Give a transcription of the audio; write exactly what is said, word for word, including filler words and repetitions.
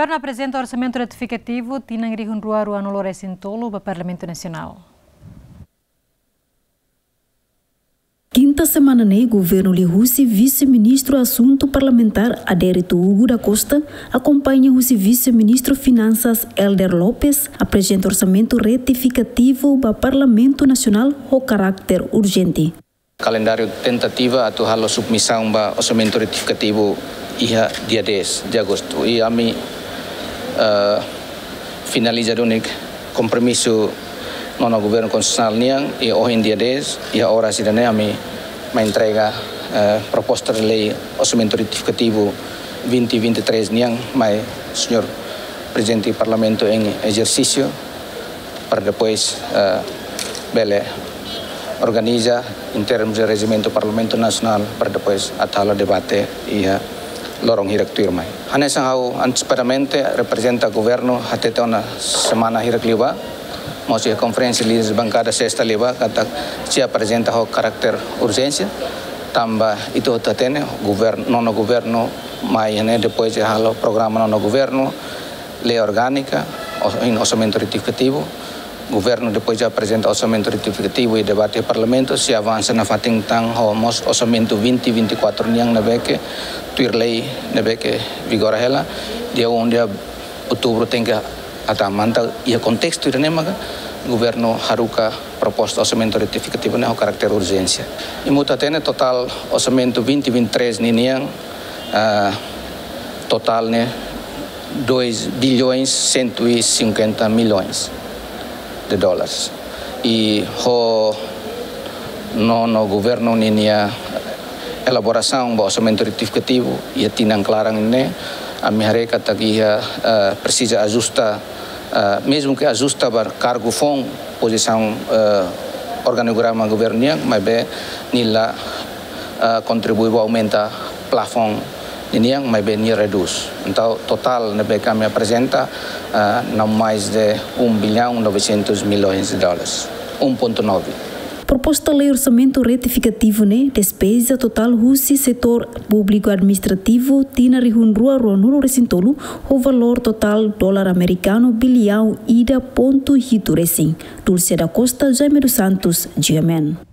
Governu aprezenta orsamentu retifikativu tinan rihun rua ruanulu resin tolu ba Parlamentu Nasionál. Kinta semana ne'e, governu liuhusi Vise-Ministru Asuntu Parlamentár Adérito Hugo da Costa akompaña husi Vise-Ministru Finansas Helder Lopes aprezenta orsamentu retifikativu ba Parlamentu Nasionál ho karáter urjente. Kalendáriu tentativa atu halo submisaun ba orsamentu retifikativu iha dia dez de agostu. I ami, eh, finaliza duni kompromisu nonu governu konstitusionál nian, i ohin dia dez, iha oras ida-ne'e ami mai entrega, eh, proposta de lei orsamentu retifikativu vinte vinte e três nian mai señór Prezidente Parlamentu em exercício, para depois, eh, bele organiza em termos de rejimentu Parlamentu Nasionál, para depois atu halo debate iha loron hirak tuirmai. Hanesan ha'u antesipadamente reprezenta governu hatete ona semana hirak liubá, mós iha konferénsia líderes bankada sesta liubá, katak sei aprezenta ho karáter urjénsia, tanba ita hotu hatene, governu, nonu governu mai ne'e, depois de halo programa nonu governu, lei orgánika, os-, em orsamentu retifikativu. Governu depois de aprezenta orsamentu retifikativu i debate Parlamentu, sei avansa nafatin tan ho mós orsamentu vinte vinte e quatro nian ne'ebé ke tuir lei ne'ebé ke vigora hela, dia um de outubro tenke atu mantén iha kontestu ida-ne'e maka governu haruka proposta orsamentu retifikativu ne'e ho karáter urjénsia. I ita hatene totál orsamentu vinte vinte e três ninian, ah, totál ne'e dois bilhões cento e cinquenta milhões de dólares. I ho nonu governu ninia elaborasaun ba orsamentu retifikativu iha tinan klaran ne'e, ami haree katak iha, eh, presiza ajusta, eh, mezmu ke ajusta ba kargu foun, pozisaun, eh, organograma governu nian, maibé nia la, eh, kontribui ba aumenta plafoun ninian, maibé nia redús. Entaun, totál ne'ebé ke ami aprezenta, eh, não mais de um bilhão novecentos milhões de dólares, um ponto nove. Proposta lei orsamentu retifikativu ne'e despeja totál husi setór públiku administrativu tinan rihun rua ruanulu resin tolu ho valór totál dolar amerikanu biliaun ida pontu hitu resin. Dulce da Costa, Jaime dos Santos, G M N.